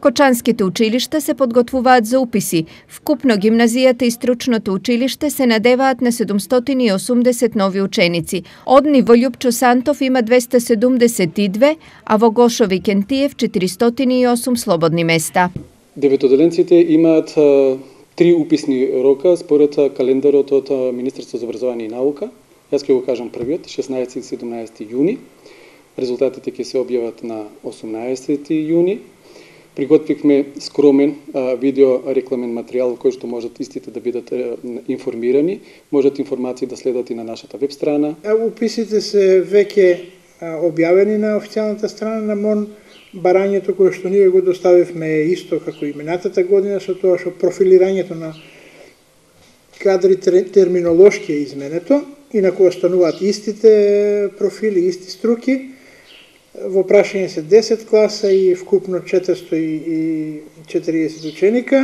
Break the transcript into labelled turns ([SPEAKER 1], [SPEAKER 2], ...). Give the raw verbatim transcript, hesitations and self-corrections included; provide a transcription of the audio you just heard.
[SPEAKER 1] Кочанските училишта се подготвуваат за уписи. Вкупно гимназијата и стручното училиште се надеваат на седумстотини и осумдесет нови ученици. Од ниво Љупчо Сантов има двеста седумдесет и две, а во Гошови Кентиев четиристотини и осум слободни места.
[SPEAKER 2] Деветоделенците имаат три уписни рока според календарот од Министерството за образование и наука. Јас ќе го кажам првиот, шеснаесети и седумнаесети јуни. Резултатите ќе се објават на осумнаесети јуни. Приготвивме скромен а, видео рекламен материјал кој што можат истите да бидат а, информирани. Можат информации да следат и на нашата веб страна.
[SPEAKER 3] Уписите се веќе објавени на официјалната страна на МОН. Барањето кое што ние го доставивме е исто како и минатата година, со тоа што профилирањето на кадри терминолошки е изменето, инаку остануваат истите профили, исти струки. Во прашање се десет класа и вкупно четиристотини и четириесет ученика.